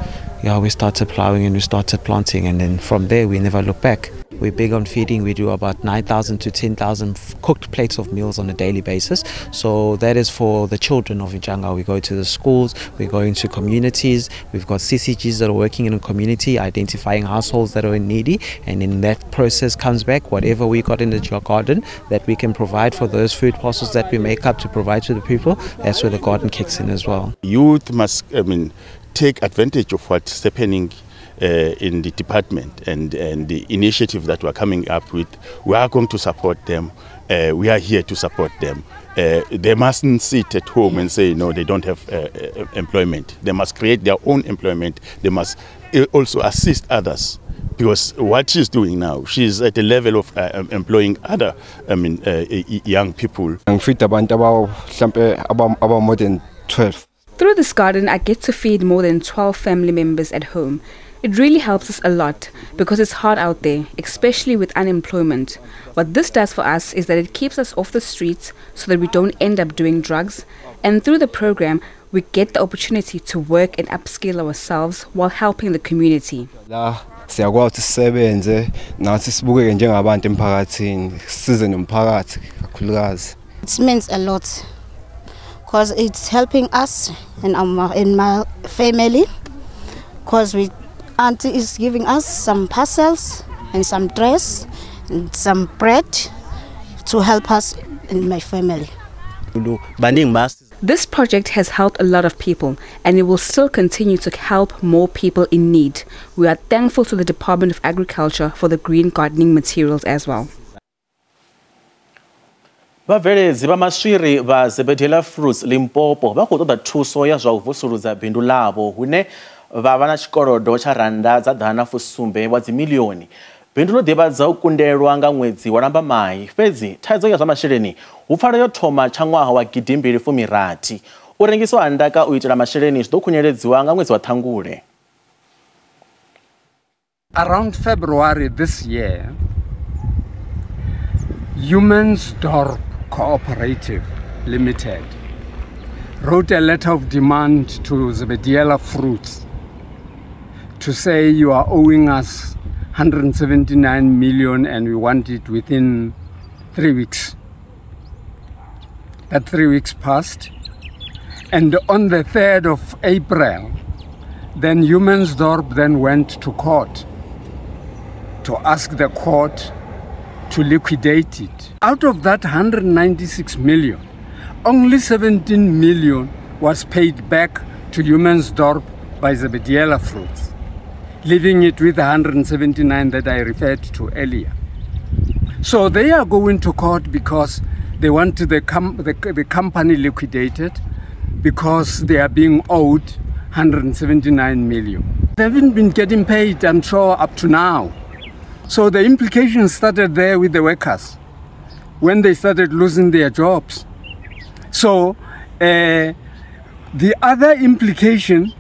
we started plowing and we started planting. And then from there, we never looked back. We're big on feeding. We do about 9,000 to 10,000 cooked plates of meals on a daily basis. So that is for the children of Inchanga. We go to the schools, we go into communities. We've got CCGs that are working in a community, identifying households that are needy. And in that process comes back whatever we got in the garden that we can provide for those food parcels that we make up to provide to the people. That's where the garden kicks in as well. Youth must, take advantage of what's happening in the department and the initiative that we're coming up with. We are going to support them. We are here to support them. They mustn't sit at home and say, no, they don't have employment. They must create their own employment. They must also assist others. Because what she's doing now, she's at the level of employing other young people. More than 12. Through this garden, I get to feed more than 12 family members at home. It really helps us a lot because it's hard out there, especially with unemployment. What this does for us is that it keeps us off the streets so that we don't end up doing drugs. And through the program, we get the opportunity to work and upskill ourselves while helping the community. Siyakwazi sisebenze nathi sibukeke njengabantu emphakathini, sisize nomphakathi kakhulukazi. It means a lot because it's helping us and in my family, because we auntie is giving us some parcels and some dress and some bread to help us in my family. This project has helped a lot of people and it will still continue to help more people in need. We are thankful to the Department of Agriculture for the green gardening materials as well. Vhabveledzi vha maswiri vha Zebediela Fruits Limpopo vha khou ṱoḓa thuso ya zwa u vusuludza bindu ḽavho hune vha vha na tshikolodo tsha randa dza 170 wa dzimilioni. Bindu ḽo ḓivhadza u kundelwa nga ṅwedzi wa Lambamai, fhedzi thaidzo ya zwa masheleni hu pfala yo thoma tsha ṅwaha wa 2016. U rengiswa ha ndaka u itela masheleni zwi ḓo khunyeledziwa nga ṅwedzi wa Ṱhangule. Around February this year, Humansdorp Cooperative Limited wrote a letter of demand to Zebediela Fruits to say you are owing us 179 million and we want it within 3 weeks. That 3 weeks passed, and on the 3rd of April, then Humansdorp then went to court to ask the court to liquidate it. Out of that 196 million, only 17 million was paid back to Humansdorp by Zebediela Fruits, leaving it with 179 that I referred to earlier. So they are going to court because they want the company liquidated because they are being owed 179 million. They haven't been getting paid, I'm sure, up to now. So the implications started there with the workers when they started losing their jobs. So the other implication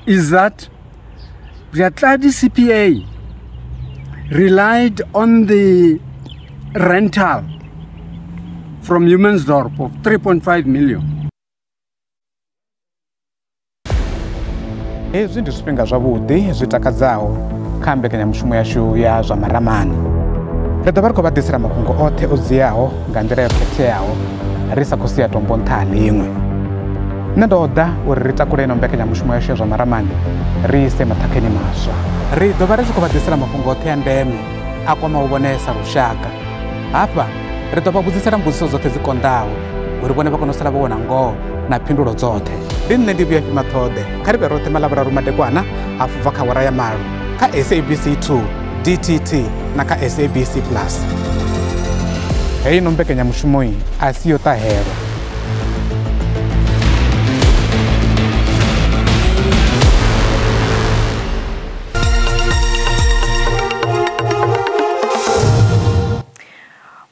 is that the Atladi CPA relied on the rental from Humansdorp of 3.5 million. Hezwi ndi zwifhinga zwavhuḓi zwi takadzaho kha mbekanyamushumo yashu ya zwa maramani. Ri ḓo vha ri khou vha ḓisela mafhungo oṱhe o dziaho nga nḓila yo khetheaho ri sa khou sia tombo nṱha ha ḽiṅwe. Nṋe ndo ḓa uri ri takule ino mbekanyamushumo yashu ya zwa maramani ri ise maṱhakheni maswa. Ri ḓo vha ri tshi khou vha ḓisela mafhungo oṱhe a ndeme a kwamaho vhone sa lushaka. Hafha ri ḓo vha vhudzisela mbudziso dzoṱhe dzi konḓaho uri vhone vha kone u sala vho wana ngoho na phindulo dzoṱhe. Ndi nṋe ndi Vhuyafhi Maṱhoḓe, kha ri vhe roṱhe maḽavhuraru madekwana hafhu bva kha awara ya 8 kha SABC 2, DTT na kha SABC Plus. Heino mbekanyamushumo a si yo ṱahelwa.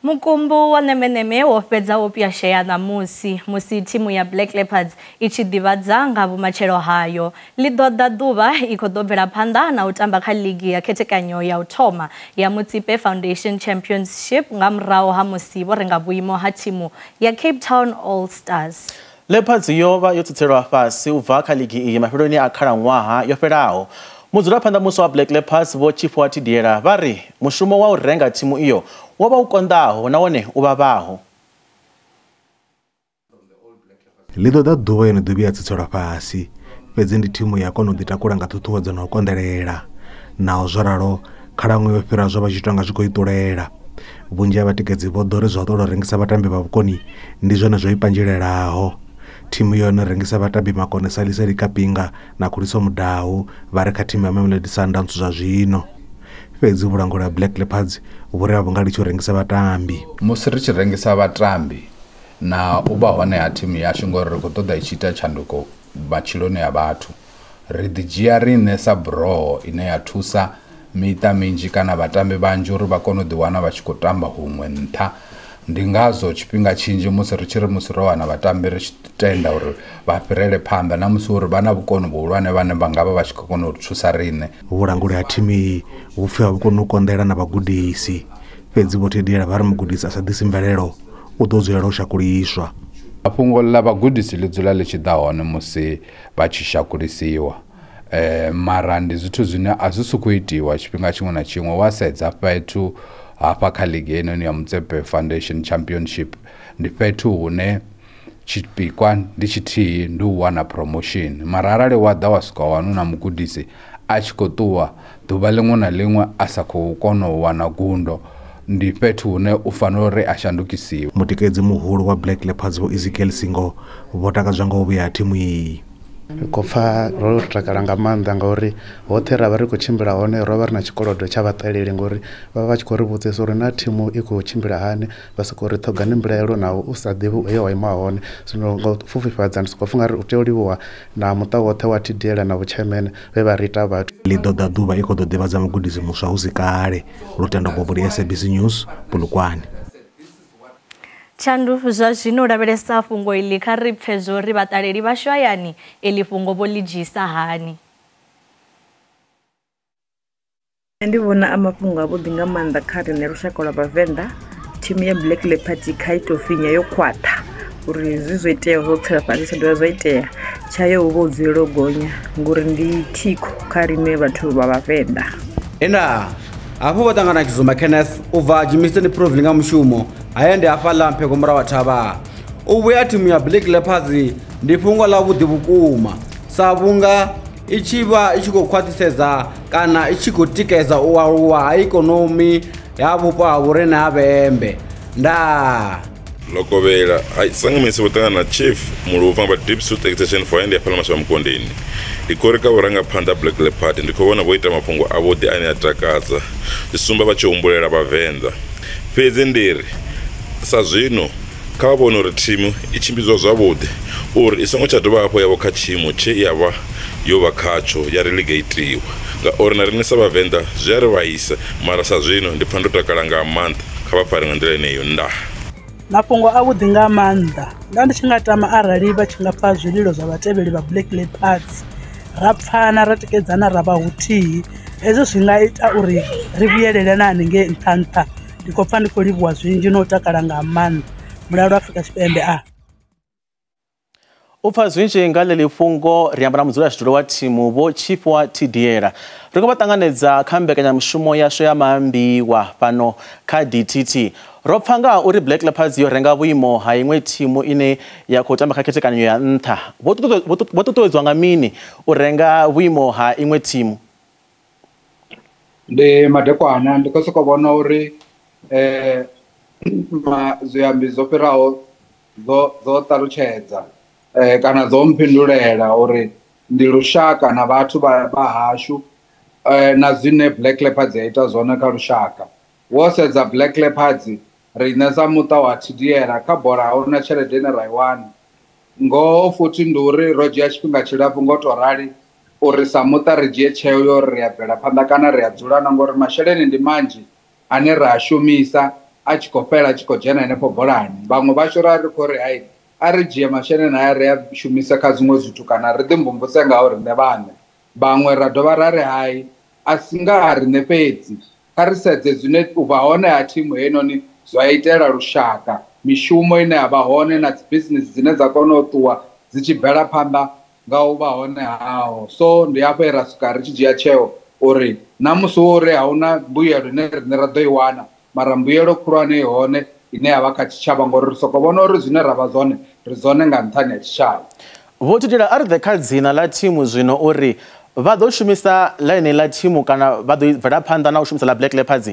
Mukumbu wa nemeneme wo fhedza wo pwashea ṋamusi musi thimu ya Black Leopards i tshi ḓivhadza nga vhumatshelo hayo. Ḽi ḓo ḓa ḓuvha i khou ḓo bvela phanḓa na u tamba kha ligi ya khethekanyo ya u thoma ya Motsepe Foundation Championship nga murahu ha musi vho renga vhuimo ha thimu ya Cape Town All Stars. Leopards yo vha yo tsitselwa fhasi u bva kha ligi iyi mafheloni a khalaṅwaha yo fhelaho. Mudzulaphanḓa muswa wa Black Leopards Vho Tshifhiwa Thidiela vha ri mushumo wa u renga thimu iyo wo vha u konḓaho nahone u vhavhaho. Ḽi ḓo ḓa ḓuvha yo no ḓo vhuya tsitselwa fhasi, fhedzi ndi thimu ya kona u ḓitakula nga ṱhuṱhuwedzo na u konḓelela. Naho zwo ralo, khalaṅwaha yo fhira zwo vha zwi tonga zwi khou i ṱulela. Vhunzhi ha vhatikedzi vho ḓo ri zwa u ṱola u rengisa vhatambi vha vhukoni ndi zwone zwo i panzhelelaho. Thimu yone rengisa vhatambi makone Salisali Kapinga na Khuliso Mudau vha re kha thimu ya Mamelodi Sundowns zwa zwino. Fhedzi vhulanguli ha Black Leopards vhu ri a vhu nga litshi u rengisa vhatambi. Musi ri tshi rengisa vhatambi na u vha hone ha thimu yashu ngori ri khou ṱoḓa i tshi ita tshanduko matshiloni a vhathu, ri ḓi dzhia riṋe sa buroho ine ya thusa miṱa minzhi kana vhatambi vhanzhi uri vha kone u ḓiwana vha tshi khou tamba huṅwe nṱha. Ndi ngazwo tshifhinga tshinzhi musi ri tshi ri musi ro wana vhatambi ri tshi tenda uri vha fhirele phanḓa na musi uri vha na vhukoni vhuhulwane vhane vha nga vha vha tshi khou kona u thusa riṋe. Vhulanguli ha thimu iyi vhu pfi a vhu koni u konḓela na vhagudisi, fhedzi Vho Thidiela vha ri mugudisi a sa ḓisi mvelelo u ḓo dzulela u shakuliswa. Fhungo ḽa vhagudisi ḽi dzula ḽi tshi ḓa hone musi vha tshi shakulisiwa, mara ndi zwithu zwine a zwi sokou itiwa tshifhinga tshiṅwe na tshiṅwe. Wa sedza fhethu hafha kha ligi heinoni ya Motsepe Foundation Championship ndi fhethu hune tshipikwa ndi tshithihi, ndi u wana promotion. Mara arali wa ḓa wa swika wana na mugudisi a tshi khou ṱuwa ḓuvha ḽiṅwe na ḽiṅwe a sa khou kona u wana gundo, ndi fhethu hune u fanela uri a shandukisiwe. Mutikedzi muhulu wa Black Leopards Vho Ezekiel Singo vho takadzwa nga u vhuya ha thimu iyi. Ri khou pfa ro takala nga maanḓa ngauri hoṱhe ra vha ri khou tshimbila hone ro vha ri na tshikolodo tsha vhaṱaleli ngori vha vha tshi khou ri vhudzisa uri na thimu i khou tshimbila hani, vha sokou ri ṱhogani mbilaelo naho u sa ḓivhi he wa ima hone. Zwino nga u pfufhifhadza ndi sokou pfha nga ri u tea u livhuwa na muṱa woṱhe wa Thidiela na vhutshaimene vhe vha ri ita vhathu. Ḽi ḓo ḓa ḓuvha i khou ḓo ḓivhadza mugudisi muswa hu si kale. Lutendo Bobodi, SABC News, Polokwane. Tshandu zwa zwino lavhelesa fhungo iḽi kha ri pfe zwo ri vhaṱaleli vhashu hayani iḽi fhungo vho ḽi dzhisa hani. Ndi vhona a mafhungo avhuḓi nga maanḓa kha riṋe lushaka lwa Vhavenḓa. Thimu ya Black Leopards kha i tou finya yo khwaṱha uri zwi zwo itea zwo tsela fhasi tsha dovha zwa itea tshayo hu vha u dzulela u gonya ngori ndi thikho kha riṋe vhathu vha Vhavenḓa. Enda hafho vho ṱangana Tshizuma Kenneth u bva Germiston Province nga mushumo haya ndi hafhaḽa Mphego murahu wa thavha. U vhuya thimu ya Black Leopards ndi fhungo ḽa vhuḓi vhukuma sa vhunga i tshi vha i tshi khou khwaṱhisedza kana i tshi khou tikedza u aluwa ha ikonomi ya vhupo ha vhorine ha Vhembe. Ndaa. Lokovhela sangamisi vho ṱangana na Chief Muluvha vha Deep South Extension for ndi hafhaḽa Mashava Mukondeni. Ndi khou ri kha vhurangaphanḓa Black Leopard ndi khou vhona vho ita mafhungo avhuḓi ane a takadza, zwi sumba vha tshi humbulela Vhavenḓa. Fhedzi ndi ri sa zwino kha vha vhone uri thimu i tshimbidzwa zwavhuḓi uri i songo tsha dovha hafhu ya vha kha tshiimo tshe ya vha yo vha khatsho ya relegatiwa, ngauri na riṋe sa Vhavenḓa zwi a ri vhaisa. Mara sa zwino ndi pfha ndo takala nga maanḓa, kha vha fare nga nḓila yeneyo. Ndaa. Mafhungo avhuḓi nga maanḓa. Nda ndi tshi nga tama arali vha tshi nga pfa zwililo zwa vhatevheli vha Black Leopards, ra pfana ra tikedzana ra vha huthihi, hezwo zwi nga ita uri ri vhuyelele na haningei nṱha nṱha. Ndi khou pfa ndi khou livhuwa zwinzhi no takala nga maanḓa. Mulalo Afrika Tshipembe a. U pfa zwinzhi nga ḽeḽi fhungo ri amba na mudzulatshidulo wa thimu Vho Tshifhiwa Thidiela. Ri khou vha ṱanganedza kha mbekanyamushumo yashu ya maambiwa fhano kha DTT. Ro pfa nga uri Black Leopards yo renga vhuimo ha iṅwe thimu ine ya khou tamba kha khethekanyo ya nṱha. Vho ṱuṱuwedzwa nga mini u renga vhuimo ha iṅwe thimu? Ndi madekwana ndi khou sokou vhona uri zwiambi zwo fhiraho zwo ṱalutshedza. Kana dzo mphindulela uri ndi lushaka na vhathu vha hashu na zwine Black Leopards ya ita zwone kha lushaka. Wo sedza Black Leopards riṋe sa muṱa wa Thidiela kha bola ahuna tshelede ine ra i wana. Ngoho futhi ndi uri ro dzhia tshifhinga tshilapfhu ngo to rali uri sa muṱa ri dzhie tsheo yo ri a bvela phanḓa kana ri a dzula na, ngori masheleni ndi manzhi ane ra a shumisa a tshi khou fhela a tshi khou dzhena henefho bolani. Vhaṅwe vhashu ra ri khou ri hai a ri dzhie masheleni aya ri a shumise kha zwiṅwe zwithu kana ri ḓi mvumvuse ngao riṋe vhaṋe. Vhaṅwe ra dovha ra ri hai a si nga ha riṋe fhedzi, kha ri sedze zwine u vha hone ha thimu heinoni zwa itela lushaka, mishumo ine ya vha hone na dzi business dzine dza kona u ṱuwa dzi tshi bvela phanḓa nga u vha hone haho. So ndi hafho he ra swika ri tshi dzhia tsheo uri na musi wo uri ahuna mbuyelo ine riṋe ra ḓo i wana, mara mbuyelo khulwane i hone ine ya vha kha tshitshavha, ngori ri soko vhona uri zwine ra vha zwone ri zwone nga nṱhani ha tshitshavha. Vho Thidiela, a ri ḓe kha dzina ḽa thimu zwino uri vha ḓo shumisa ḽine ḽa thimu kana vha ḓo bvela phanḓa na u shumisa ḽa Black Leopards?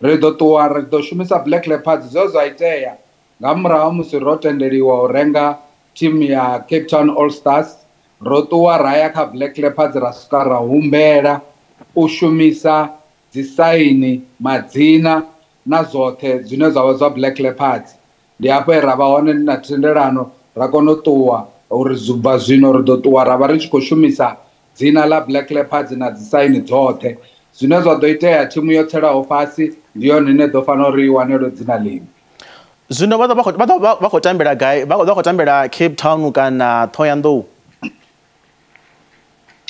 Ri ḓo ṱuwa ri ḓo shumisa Black Leopards. Zwe zwa itea nga murahu musi ro tendeliwa u renga thimu ya Cape Town All Stars, ro ṱuwa ra ya kha Black Leopards ra swika ra humbela u shumisa dzi saini, madzina na zwoṱhe zwine zwa vha zwa Black Leopards. Ndi hafho he ra vha hone na thendelano ra kona u ṱuwa uri bva zwino ri ḓo ṱuwa ra vha ri tshi khou shumisa dzina ḽa Black Leopards na dzi saini dzoṱhe. Zwine zwa ḓo itea thimu yo tselaho fhasi ndi yone ine ḓo fanela uri i wanelwe dzina ḽiṅwe. Zwino vha vha khou tambela gai? Vha khou tambela Cape Town kana Thohoyandou?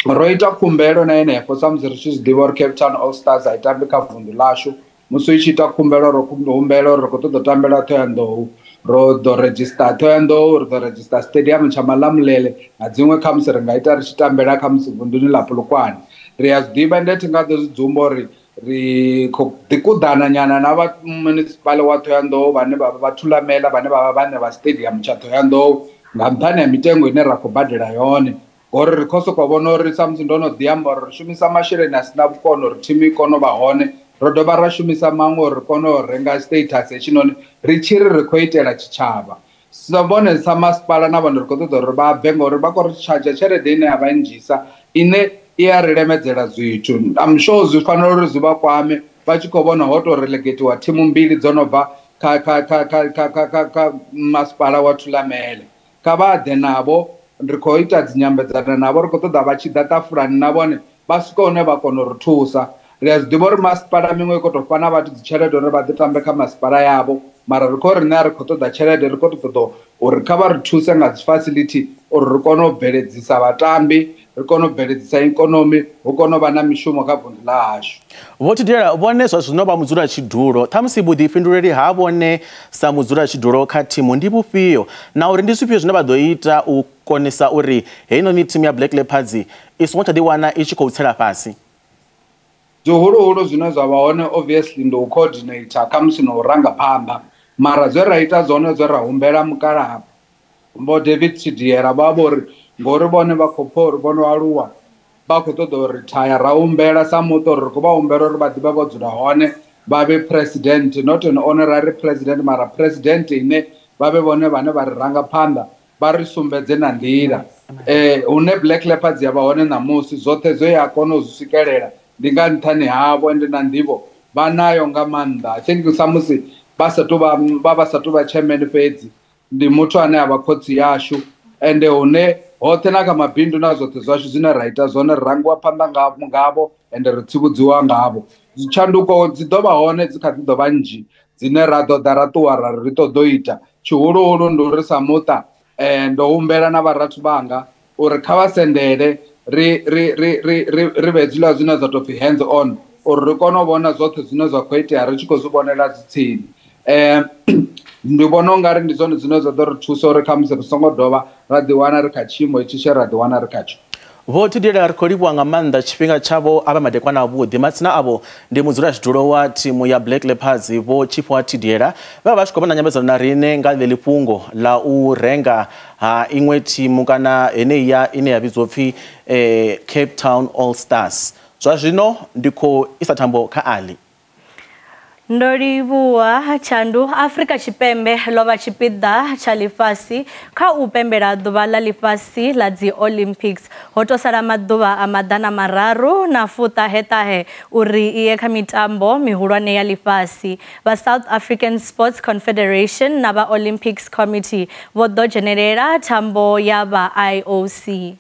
Ro ita khumbelo na henefho sa musi ri tshi zwi ḓivha uri Cape Town All Stars a i tambi kha vunḓu ḽashu. Musi i tshi ita khumbelo ro humbela uri ri khou ṱoḓa u tambela Thohoyandou, ro ḓo redzhista Thohoyandou, ri ḓo redzhista stadium tsha Malamulele na dziṅwe khamusi ri nga ita ri tshi tambela khamusi vunḓuni ḽa Polokwane. Ri a zwi ḓivha ende thi nga ḓo zwi dzumba uri ri khou ḓi kuḓana nyana na vha municipal wa Thohoyandou vhane vha vha Thulamela vhane vha vha vhaṋe vha stadium tsha Thohoyandou nga nṱhani ha mitengo ine ra khou badela yone. Ngori ri khou sokou vhona uri sa musi ndo no ḓi amba uri ri shumisa masheleni a sina vhukono uri thimu i kone u vha hone, ro dovha ra shumisa maṅwe uri ri kone u renga status hetshinoni ri tshi ri ri khou itela tshitshavha. Sa vhone sa masipala na vhone ri khou ṱoḓa uri vha bve ngori vha khou ri tshadzha tshelede ine ya vha nnzhisa ine i a ri lemedzela zwithu. I'm sure zwi fanela uri zwi vha kwame vha tshi khou vhona ho tou relegatiwa thimu mbili dzo no bva kha masipala wa Thulamele. Kha vha ḓe navho, ri khou ita dzi nyambedzano navho, ri khou ṱoḓa vha tshi ḓa ṱafulani na vhone vha swike hune vha kona u ri thusa. Ri a zwi ḓivha uri masipala miṅwe i khou tou fha na vhathu dzi tshelede uri vha ḓi tambe kha masipala yavho, mara ri khou riṋe a ri khou ṱoḓa tshelede, ri khou ṱoḓa uri kha vha ri thuse nga dzi facility uri ri kone u bveledzisa vhatambi, ri kone u bveledzisa ikonomi, hu kone u vha na mishumo kha vunḓu ḽa hashu. Vho Thidiela, vhone zwa zwino vha mudzulatshidulo, ṱhamusi vhuḓifhinduleli ha vhone sa mudzulatshidulo kha thimu ndi vhufhio, na uri ndi zwifhio zwine vha ḓo ita u konisa uri heinoni thimu ya Black Leopards i songo tsha ḓiwana i tshi khou tsela fhasi? Zwihuluhulu zwine zwa vha hone obviously ndi u coordinator khamusi na u ranga phanḓa, mara zwe ra ita zwone zwe ra humbela mukalaha Vho David Thidiela vha vho ri ngori vhone vha khou pfha uri vho no aluwa vha khou ṱoḓa u rithaya, ra humbela sa muṱa uri ri khou vha humbela uri vha ḓivhe vho dzula hone vha vhe president, not an honorary president mara president ine vha vhe vhone vhane vha ri ranga phanḓa vha ri sumbedze na nḓila. Hune Black Leopards ya vha hone ṋamusi zwoṱhe zwe ya kona u zwi swikelela ndi nga nṱhani havho ende na nḓivho vha nayo nga maanḓa. I think sa musi vha sa tou vha sa tou vha chairman fhedzi, ndi muthu ane a vha khotsi yashu, ende hune hoṱhe na kha mabindu na zwoṱhe zwashu zwine ra ita zwone ri rangiwa phanḓa ngavho ende ri tsivhudziwa ngavho. Tshanduko dzi ḓo vha hone, dzi kha ḓi ḓo vha nnzhi dzine ra ḓo ḓa ra ṱuwa ra ri ṱoḓo ita. Tshihuluhulu ndi uri sa muṱa ndo humbela na vharathu vhanga uri kha vha sendele ri vhe hezwiḽa zwine zwa tou pfhi hands on, uri ri kone u vhona zwoṱhe zwine zwa khou itea ri tshi khou zwi vhonela dzi tsini. Ndi vhona ungari ndi zwone zwine zwa ḓo ri thusa uri khamusi ri songo dovha ra ḓiwana ri kha tshiimo itshi tshe ra ḓiwana ri khatsho. Vho Thidiela, ri khou livhuwa nga maanḓa tshifhinga tshavho a vha madekwana avhuḓi. Matsina avho ndi mudzulatshidulo wa thimu ya Black Leopards Vho Tshifhiwa Thidiela, vha tshi khou vha na nyambedzano na riṋe nga ḽeḽi fhungo ḽa u renga ha iṅwe thimu kana heneyi ine ya vhidzwa pfhi Cape Town All Stars. Zwa zwino ndi khou isa thambo kha Ali. Ndo livhuwa Tshandu. Afrika Tshipembe ḽo vha tshipiḓa tsha ḽifhasi kha u pembela ḓuvha ḽa ḽifhasi ḽa dzi Olympics. Ho to sala maḓuvha a 396 uri iye kha mitambo mihulwane ya ḽifhasi. Vha South African Sports Confederation na vha Olympics Committee vho ḓo dzhenelela thambo ya vha IOC.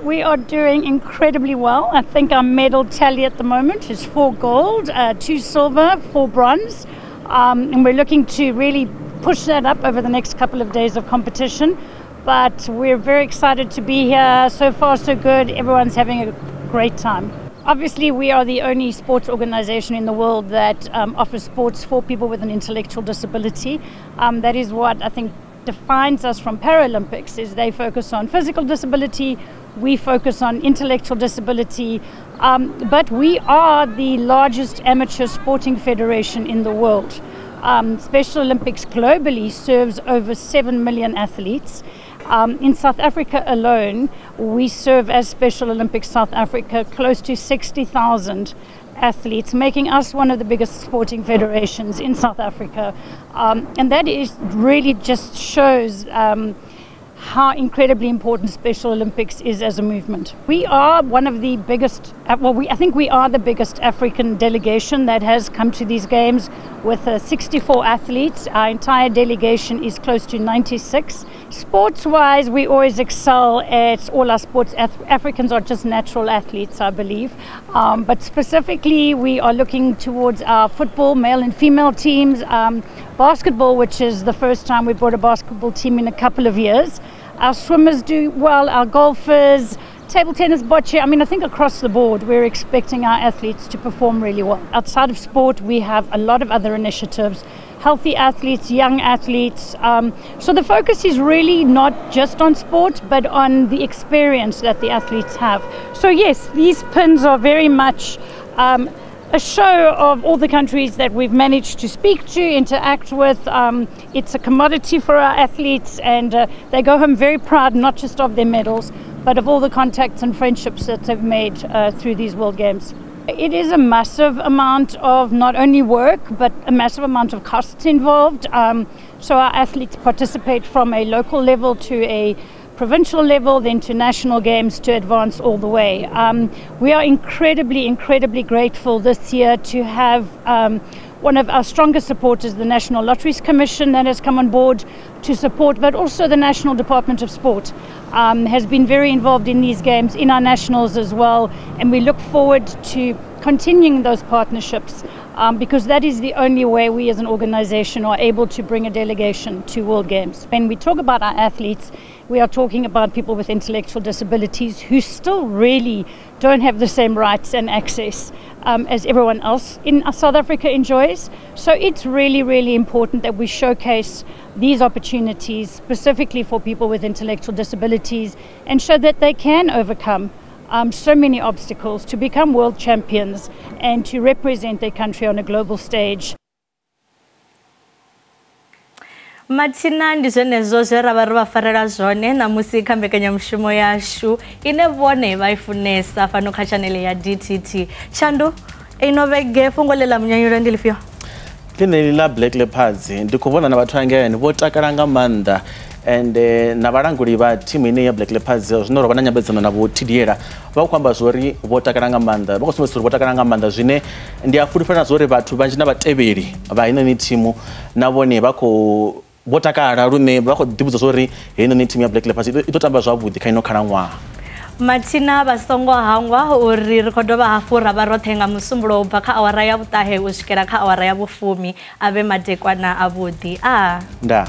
We are doing incredibly well. I think our medal tally at the moment is 4 gold, 2 silver, 4 bronze. And we're looking to really push that up over the next couple of days of competition. But we're very excited to be here. So far, so good. Everyone's having a great time. Obviously, we are the only sports organization in the world that offers sports for people with an intellectual disability. That is what I think defines us from Paralympics, is they focus on physical disability, we focus on intellectual disability, but we are the largest amateur sporting federation in the world. Special Olympics globally serves over 7 million athletes. In South Africa alone, we serve as Special Olympics South Africa close to 60,000 athletes, making us one of the biggest sporting federations in South Africa. And that is really just shows how incredibly important Special Olympics is as a movement. We are one of the biggest, well, I think we are the biggest African delegation that has come to these games with 64 athletes. Our entire delegation is close to 96. Sports-wise, we always excel at all our sports. Africans are just natural athletes, I believe. But specifically, we are looking towards our football, male and female teams, basketball, which is the first time we brought a basketball team in a couple of years. Our swimmers do well, our golfers, table tennis, bocce. I mean, I think across the board, we're expecting our athletes to perform really well. Outside of sport, we have a lot of other initiatives, healthy athletes, young athletes. So the focus is really not just on sport, but on the experience that the athletes have. So yes, these pins are very much a show of all the countries that we've managed to speak to, interact with. It's a commodity for our athletes, and they go home very proud, not just of their medals, but of all the contacts and friendships that they've made through these World Games. It is a massive amount of not only work, but a massive amount of costs involved. So our athletes participate from a local level to a provincial level, then to national games to advance all the way. We are incredibly, incredibly grateful this year to have one of our strongest supporters, the National Lotteries Commission, that has come on board to support, but also the National Department of Sport has been very involved in these games, in our nationals as well, and we look forward to continuing those partnerships because that is the only way we as an organization are able to bring a delegation to World Games. When we talk about our athletes, we are talking about people with intellectual disabilities who still really don't have the same rights and access as everyone else in South Africa enjoys. So it's really, really important that we showcase these opportunities specifically for people with intellectual disabilities and show that they can overcome so many obstacles to become world champions and to represent their country on a global stage. Mathina ndi zwenezwo zwe ra vha ro vha farela zwone ṋamusi kha mbekanyamushumo yashu ine vhone vha i funesa fhano kha tshanele ya DTT. Tshandu, ino vhege fhungo ḽe ḽa munyanyulo ndi ḽifhio? Ḽeneḽi ḽa Black Leopards ndi khou vhona na vhathu hangeini vho takala nga maanḓa, and na vhalanguli vha thimu ine ya Black Leopards zwino ro vha na nyambedzano na vho Thidiela vha khou amba zwori vho takala nga maanḓa, vha khou sumbedzisa uri vho takala nga maanḓa, zwine ndi a fulufhela zwori vhathu vhanzhi na vhatevheli vha heinoni thimu na vhone vha khou vho takala lune vha khou ḓivhudza zwori heinoni thimu ya Black Leopards i ḓo tamba zwavhuḓi kha ino khalaṅwaha. Mathina vha songo hangwa uri ri khou dovha hafhu ra vha roṱhe nga musumbulo u bva kha awara ya 9 u swikela kha awara ya 10 a vhe madekwana avhuḓi. Ndaa.